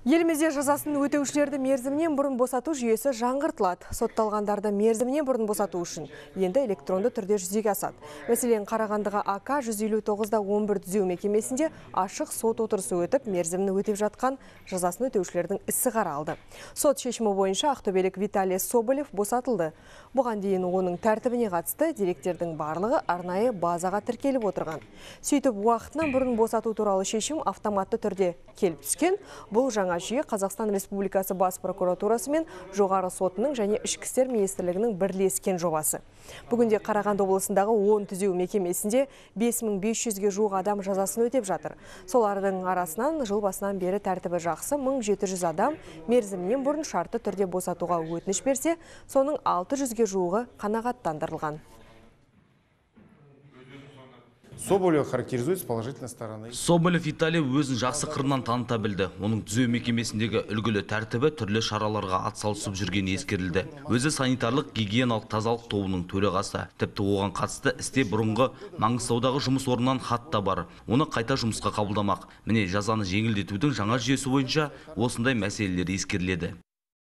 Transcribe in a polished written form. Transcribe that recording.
Елімізде жазасын өтеушілерді мерзімнен бұрын босату жүйесі жаңғыртылады. Сотталғандарды мерзімнен бұрын босату үшін енді электронды түрде жүзеге асады. Мәселен, Қарағандыға АК 159-11 түзеу мекемесінде ашық сот отырысы өтіп, мерзімін өтеп жатқан жазасын өтеушілердің ісі қаралды. Сот шешімі бойынша ақтөбелік Виталий Соболев босатылды. Бұған дейін оның тәртібіне қатысты деректердің барлығы арнайы базаға тіркеліп отырған. Сөйтіп, уақытынан бұрын босату туралы шешім автоматты түрде келіп түскен. Бұл жаңа жүйе Қазақстан Республикасы бас прокуратурасы мен жоғары сотының және ішкі істер министрлігінің бірлескен жобасы. Бүгінде Қарағанды облысындағы 10 түзеу мекемесінде 5500-ге жуық адам жазасын өтеп жатыр. Солардың арасынан жыл басынан бері тәртібі жақсы 1700 адам мерзімнен бұрын шартты түрде босатуға өтініш берсе, соның 600-ге жуығы қанағаттандырылған. Соболев характеризуется положительной стороной. Соболев Виталий өзін жақсы қырынан таныта білді. Оның түзеу мекемесіндегі үлгілі тәртібі түрлі шараларға атсалысып жүргені ескерілді. Өзі санитарлық гигиеналық тазалық тобының төрағасы. Тіпті оған қатысты істе бұрынғы Маңғыстаудағы жұмыс орнынан хат та бар. Оны қайта жұмысқа қабылдамақ. Міне жазаны жеңілдетудің жаңа жүйесі бойынша осындай мәселелер ескеріледі.